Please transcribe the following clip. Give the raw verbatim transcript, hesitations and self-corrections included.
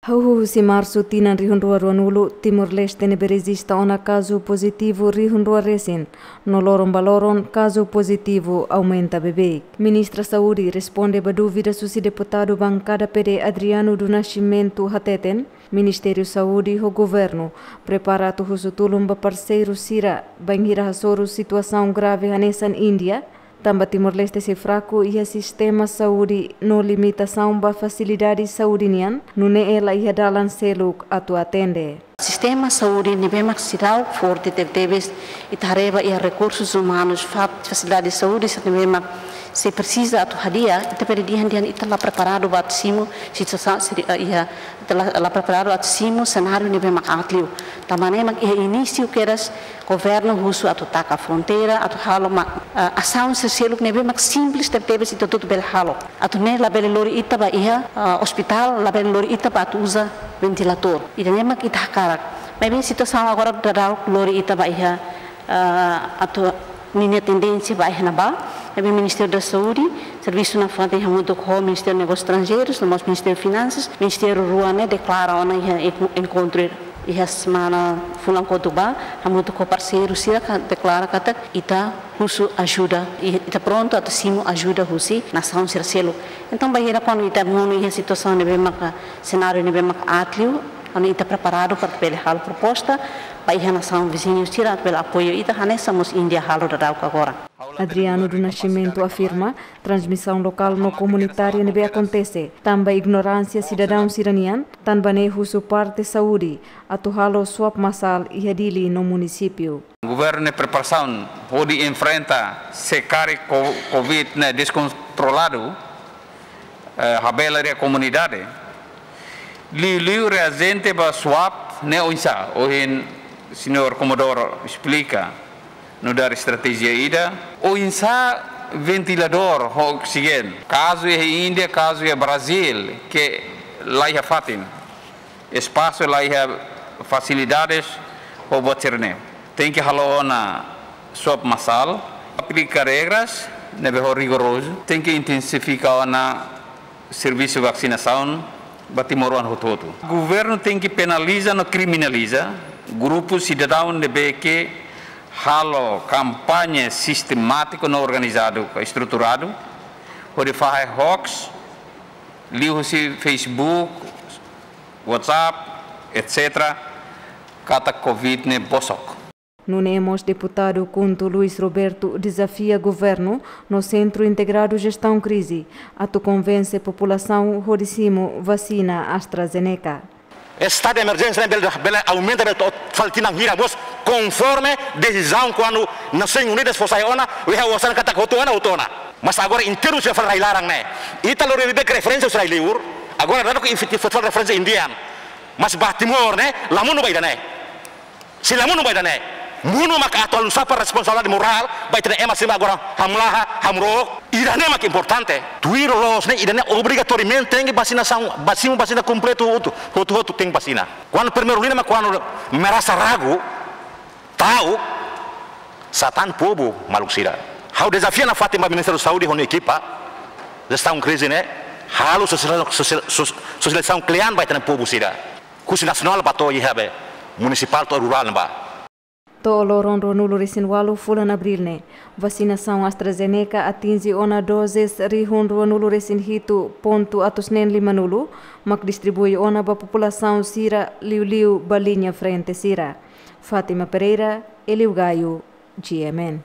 Hahú husi Marsu tinan rihun rua ruanulu, Timor-Leste ne'ebé rejista ona kazu pozitivu rihun rua resin, no loron ba loron kazu pozitivu aumenta beibeik. Ministra Saúde responde ba dúvidas husi deputadu bankada P D Adriano do Nascimento hateten, Ministériu Saúde ho governu prepara atu husu tulun ba parseiru sira bainhira hasoru situasaun grave hanesan Índia, tanba Timor-Leste sei fraku iha sistema saúde no limitasaun ba fasilidade saúde nian, nune'e la iha dalan seluk atu atende. Sistema saúde ne'ebé mak seidauk forte tebetebes, ita haree ba iha rekursus umanus, fa-, fasilidade saúde sira ne'ebé mak sei presiza atu hadi'a, ita bele dehan dehan ita la preparadu ba atu simu situasaun sira, eh, iha, ita la, la preparadu atu simu senáriu ne'ebé mak aat liu. Tanba ne'e mak iha inísiu kedas governu husu atu taka fronteira, atu halo mak, eh, asaun sira seluk ne'ebé mak simples tebetebes ita hotu-hotu bele halo. Atu ne'e labele lori ita ba iha, eh, ospitál, labele lori ita ba atu uza ventiladór. Ida-ne'e mak ita hakarak. Maibé situasaun agora daudaun lori ita ba iha, eh, atu ninia tendénsia ba iha ne'ebá. Maibé Ministériu da Saúde, servisu nafatin hamutuk ho Ministériu Negósius Estranjeirus, no mós Ministériu Finansas, ministériu rua ne'e deklara ona iha enko-, enkontru iha semana fulan kotuk ba, hamutuk ho parseiru sira ka deklara katak ita husu ajuda, i-, ita prontu atu simu ajuda husi nasaun sira seluk. Entaun, bainhira kuandu ita monu iha situasaun ne'ebé maka, senáriu ne'ebé maka aat liu, entaun ita preparadu para bele halo proposta ba iha nasaun viziñu sira atu bele apoiu ita, hanesan mós Índia halo daudaun agora. Adriano do Nascimento afirma, transmisaun lokál no komunitária ne'ebé akontese tanba ignoránsia sidadaun sira-nian, tanba ne'e husu parte saúde atu halo swab masál iha Dili no munisípiu. Governu ne'e preparasaun hodi enfrenta se karik ko-, covid ne'e deskontroladu, eh, habela iha komunidade. Liuliu reajente ba swab ne'e oinsá, ohin señór Komodoro esplika nu'udar estratéjia ida. Oinsá ventiladór ho oksijéniu. Kazu iha Índia, kazu iha Brazíl, ke la iha fatin, espasu la iha, fasilidades ho buat sira-ne'e. Tenke halo ona swab masál, aplika regras ne'ebé ho rigorozu, tenke intensifika ona servisu vaksinasaun ba timoroan hotu-hotu. Governu tenke penaliza no kriminaliza grupu sidadaun ne'ebé ke halo kampaña sistemátiku no organizadu, estruturadu, hodi fahe hoax liuhusi Facebook, WhatsApp, et cetera, katak covid ne'e bosok. Nune'e mós deputadu KHUNTO Luis Roberto dezafia governu no Sentru Integradu Jestaun Krize atu konvense populasaun hodi simu vasina AstraZeneca. Estadu de emerjénsia ne'e bele, bele aumenta, bele to'o fali tinan hira mós, konforme desizaun kuandu Nasoins Unidas fó sai ona, W H O sai ona katak hotu ona, hotu ona. Mas agora inteiru sei fali rai-laran ne'e. Ita lori beibeik referénsia husi rai-liur, agora daudaun ke efetivu fó fali referénsia Índia. Mas ba Timor ne'e, la monu ba ida-ne'e. Sei la monu ba ida-ne'e. Monu maka atu halo sapa responsabilidade morál ba ita-nia ema sira agora hamlaha, hamrook. Ida-ne'e mak importante. Tuir loos ne'e, ida-ne'e obrigatoriamente tenke vasinasaun, ba simu vasina kompletu hotu, hotu-hotu tenke vasina. Kuandu primeiru liña mak kuandu merasa ragu, ta'uk, satan povu, maluk sira. Ha'u dezafia nafatin ba Ministériu Saúde ho nia ekipa, jestaun krize ne'e, halo sosial-, sosial-, sos-, sosializasaun kle'an ba ita-nia povu sira. Husi nasionál ba to'o iha be munisipál to'o rurál ne'ebá. To'o loron ruanulu resin ualu fulan Abríl ne'e, vasinasaun AstraZeneca atinje ona dozes rihun ruanulu resin hitu pontu atus neen limanulu, mak distribui ona ba populasaun sira liuliu ba liña frente sira. Fátima Pereira, Eliu Gaio, G M N.